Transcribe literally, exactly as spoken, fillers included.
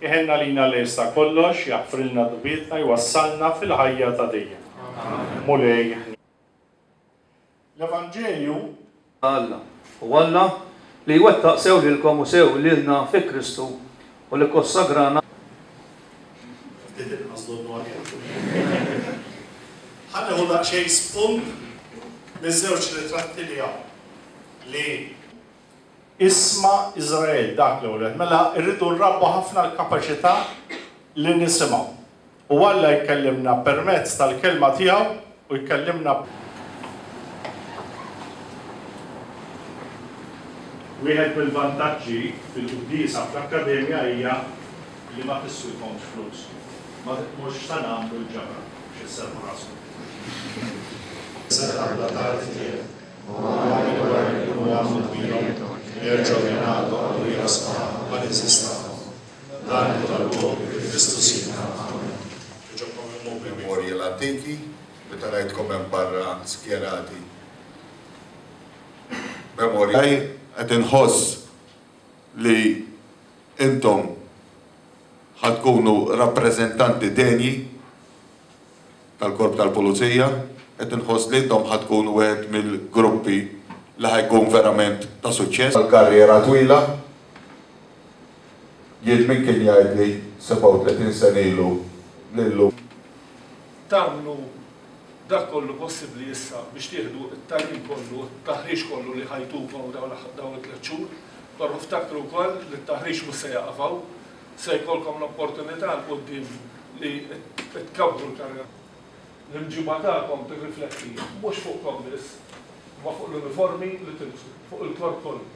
Iħenn għalina li jista' kollox, jaħfrilna dnubietna, jwassalna fil-ħajja ta' dejjem. Mulej. L-Evanġelju Alla. U Alla li jwettaq sew lilkom u sew lilna fi Kristu u li kkonsagrana Ftit inqas donnu aħjar. Ħa nieħu daqsxejn spunt miż-żewġ ritratti li hawn li Isma' Iżrael, dak l-ewwel. Mela rridu nrabbu ħafna l-kapaċità li nisimgħu. U Alla jkellimna permezz tal-kelma tiegħu u jkellimna Wieħed mill-vantaġġi fil-quddiesa fl-akkademja hija li ma tiswikomx flus. Ma mhux sa nagħmlu l-ġabra biex isserrħu raskom. Serħan bla tarf tiegħek, u għani wara li jkunu għamlu dmirhom, jerġgħu jingħaqdu qawwija sħaħ mal-għeżież tagħhom. Dan nitolbuh bi Kristu Sidna. Amen. Jogħġobkom iqumu bilwieqfa. Memorji l-antiki, meta rajtkom hemm barra skjerati. Memorji qed inħoss li intom ħa tkunu rappreżentanti denji tal-Korp tal-Pulizija, qed inħoss li intom ħa tkunu wieħed mill-gruppi li ħa jkun verament ta' suċċess. Għal-karriera twila, jien min kien jgħidli sebgħa u tletin sena ilu li llum. Tagħmlu dak kollu possibbli issa biex tieħdu t-tagħlim kollu, t-taħriġ kollu li ħajtukom dawn it-tliet xhur, però ftakru wkoll li t-taħriġ mhux se jaqaf hawn, se jkollkom l-opportunità 'l quddiem li tkabbru l-karriera. L-imġiba tagħkom tirrifletti mhux fuqkom biss, imma fuq l-uniformi li tilbsu, fuq il-korp kollu.